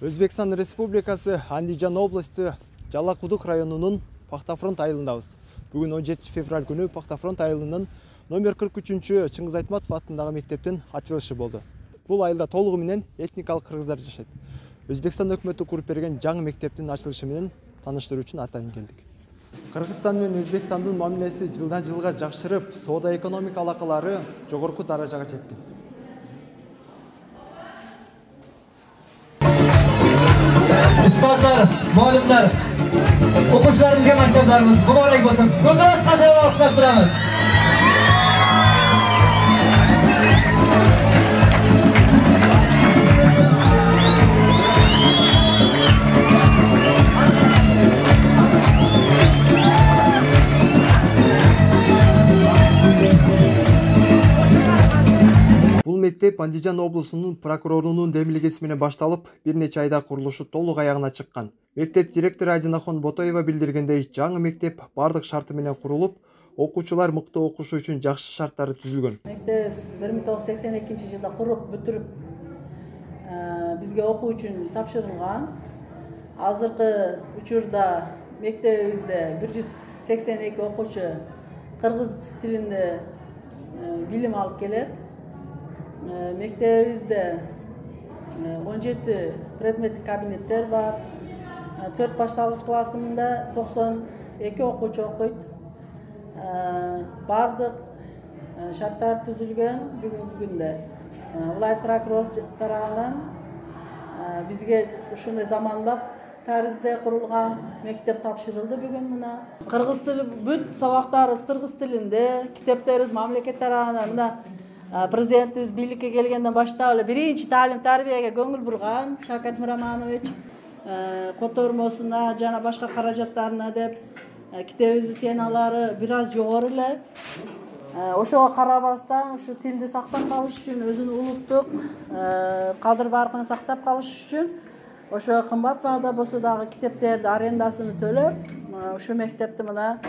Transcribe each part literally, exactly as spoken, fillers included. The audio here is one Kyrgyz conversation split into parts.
Өзбекстан Республикасы Андижан областы Жалакудук районунун Пахтафронт айылындабыз. Бүгүн он жетинчи февраль күнү Пахтафронт айылынын номер кырк үчүнчү Чыңгыз Айтматов атындагы мектептин ачылышы болду. Бул айылда толугу менен этникалык кыргыздар жашайт. Өзбекстан өкмөтү куруп берген жаңы мектептин ачылышы менен тааныштыруу үчүн атайын келдик. Кыргызстан менен Өзбекстандын мамилеси жылдан жылга жакшырып, соода экономика алакалары жогорку даражага жеткен. Ustozlar, muallimlar, o'quvchilarimizga maktablarimiz muborak bo'lsin. Ko'proq qasos olqishlab turamiz. Бул мектеп Андижан облусунун прокурорунун демилгеси менен башталып, бир нече айда курулушу толук аягына чыккан. Мектеп директору Азинахон Ботоева билдиргендей, жаңы мектеп бардык шарты менен курулуп, окуучулар мыкты окушу үчүн жакшы шарттары түзүлгөн. Мектеп бир миң тогуз жүз сексен экинчи жылда куруп бүтүрүп, бизге окуу үчүн тапшырылган. Азыркы учурда мектебибизде бир жүз сексен эки окуучу кыргыз тилинде билим алып келет. Мектебибизде он жети предметтик кабинеттер бар. төрт башталгыч классында токсон эки окуучу окуйт. Бардык шарттар түзүлгөн бүгүнкү күндө. Улайт прокурор тарабынан бизге ушундай заманбап таризде курулган мектеп тапшырылды бүгүн мына. Кыргыз тили бүт сабактарыбыз кыргыз тилинде, китептерибиз мамлекет тарабынан мына президентибиз бийликке келгенден баштап эле биринчи таалим тарбияга көңүл бурган Шавкат Миромонович котормосуна жана башка каражаттарына деп китебибиздин сценалары бир аз жогору эле. Ошого карабастан ушу тилди сактап калыш үчүн, өзүнүн улуттук кадыр баркын сактап калыш үчүн ошо кымбат баада болсо дагы китептерди арендасын төлөп, ушу мектепти мына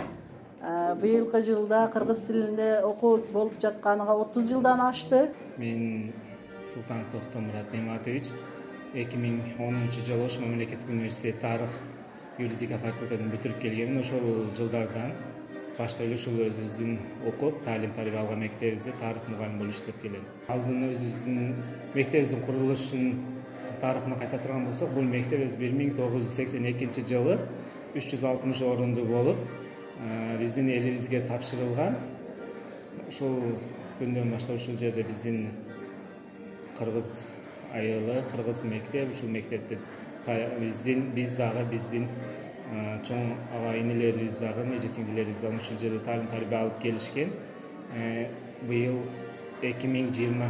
быйылкы жылда кыргыз тилинде окуу болуп жатканына отуз жылдан ашты. Мен Султан Тохтомурат Нематович эки миң онунчу жылы Ош мамлекеттик университет тарых юридика факультетин бүтүрүп келгенмин. Ошол жылдардан баштап эле ушул өзүбүздүн окуп, таалим тарбия алган мектебибизде тарых мугалим болуп иштеп келем. Алдын өзүбүздүн мектебибиздин курулушунун тарыхына кайта турган болсок, бул мектеп өз бир миң тогуз жүз сексен экинчи жылы үч жүз алтымыш орунду болуп, биздин элибизге тапшырылган. Ушул күндөн баштап ушул жерде биздин кыргыз айылы, кыргыз мектеп, ушул мектепти биздин биз дагы биздин чоң ага инилерибиз дагы, эже сиңдилерибиз дагы ушул жерде таалим тарбия алып келишкен. Быйыл эки миң жыйырма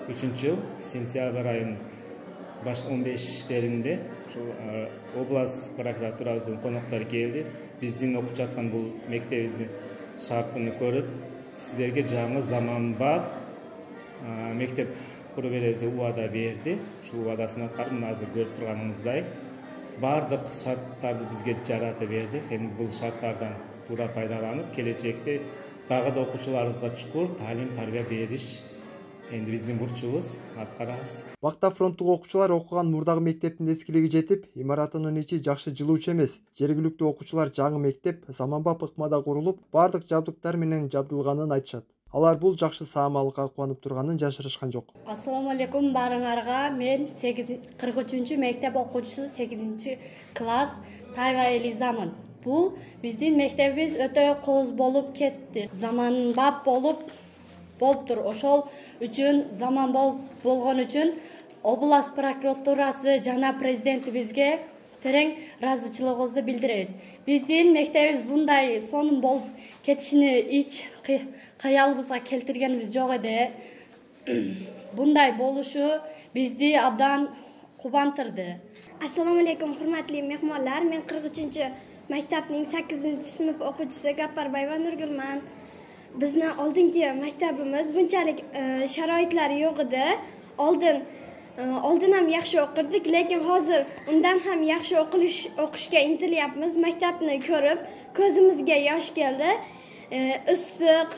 үчүнчү жыл сентябрь айынын баш он бештеринде ушул область прокуратурабыздын коноктору келди. Биздин окуп жаткан бул мектебибиздин шартын көрүп, сиздерге жаңы заманбап мектеп куруп беребиз деп убада берди. Ушул убадасын аткарып, мына азыр көрүп турганыңыздай бардык шарттарды бизге жарата берди. Эми бул шарттардан туура пайдаланып, келечекте дагы да окуучуларыбызга чукур таалим тарбия бериш энди биздин бурчубуз, аткарабыз. Пахтафронттук окуучулар окуган мурдагы мектептин эскилиги жетип, имаратынын ичи жакшы жылуучу эмес. Жергиликтүү окуучулар жаңы мектеп заманбап ыкмада курулуп, бардык жабдыктар менен жабдылганын айтышат. Алар бул жакшы саамалыкка кубанып турганын жашырышкан жок. Ассаламу алейкум баарыңарга. Мен кырк үчүнчү мектеп окуучусу сегизинчи класс Тайва Элизамын. Бул биздин мектебибиз өтө кооз болуп кетти. Заманбап болуп болуптур. Ошол үчүн заман болгон үчүн область прокуратурасы жана президентибизге терең ыраазычылыгыбызды билдиребиз. Биздин мектебибиз мындай сонун болуп кетишини ич каялыбызга келтиргенибиз жок эди. Мындай болушу бизди абдан кубандырды. Ассаламу алейкум, урматтуу мehmonlar. Мен кырк үчүнчү мектептин саккизинчи сынып окуучусу Гапарбаева Нургулман. Биздин алдыңкы мектебimiz bunchalik sharoitlari yo'q edi. Oldin oldin ham yaxshi o'qirdik, lekin hozir undan ham yaxshi o'qilish o'qishga intilyapmiz. Maktabni ko'rib ko'zimizga yosh keldi. Issiq,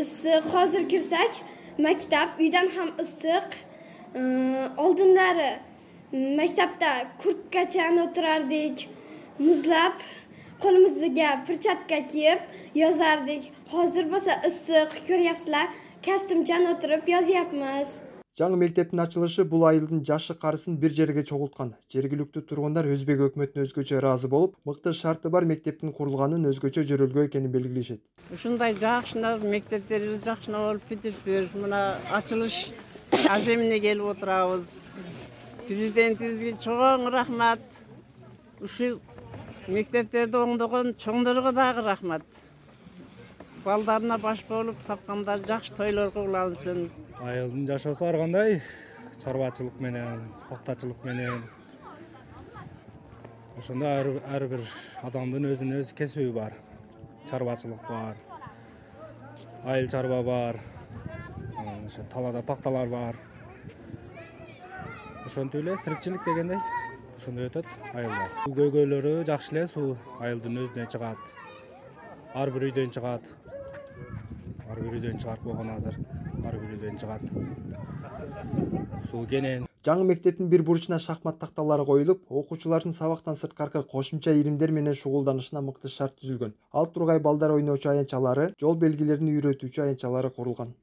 issiq. Hozir kirsak maktab uydan ham issiq. Oldinlari Maktabda kurtkachan o'tirardik, muzlab, qo'limizga perchatka kiyib yozardik. Hozir bo'lsa issiq, ko'ryapsizlar, kostyumchan o'tirib yozyapmiz. Жаңы мектептин ачылышы бул айылдын жашы карысын бир жерге чогулткан. Жергиликтүү тургундар Өзбек өкмөтүнө өзгөчө ыраазы болуп, мыкты шарты бар мектептин курулганын өзгөчө жөрөлгө экенин белгилешет. Ушундай жакшына мектептерибиз жакшына болуп кетиптир. Мына ачылыш аземине келип отурабыз. Президентибизге чоң рахмат. Ушул мектептерди оңдогон чоңдорго дагы рахмат. Балдарына баш болуп тапкандар жакшы тойлорго улансын. Айылдын жашоосу ар кандай чарбачылык менен, пактачылык менен. Ошондо ар бир адамдын өзүнүн өз кесиби бар. Чарбачылык бар. Айыл чарба бар. Ошо талаада пакталар бар. Ошентип эле тирикчилик дегендей ошондой өтөт айылда. Суу көйгөйлөрү жакшы эле, суу айылдын өзүнөн чыгат. Ар бир үйдөн чыгат. Ар бир үйдөн чыгарып койгон азыр. Ар бир үйдөн чыгат. Суу кенен. Жаңы мектептин бир бурчуна шахмат такталары коюлуп, окуучулардын сабактан сырткаркы кошумча иримдер менен шугулданышына мыкты шарт түзүлгөн. Ал тургай балдар ойночу аянтчалары, жол белгилерин үйрөтүүчү аянтчалары курулган.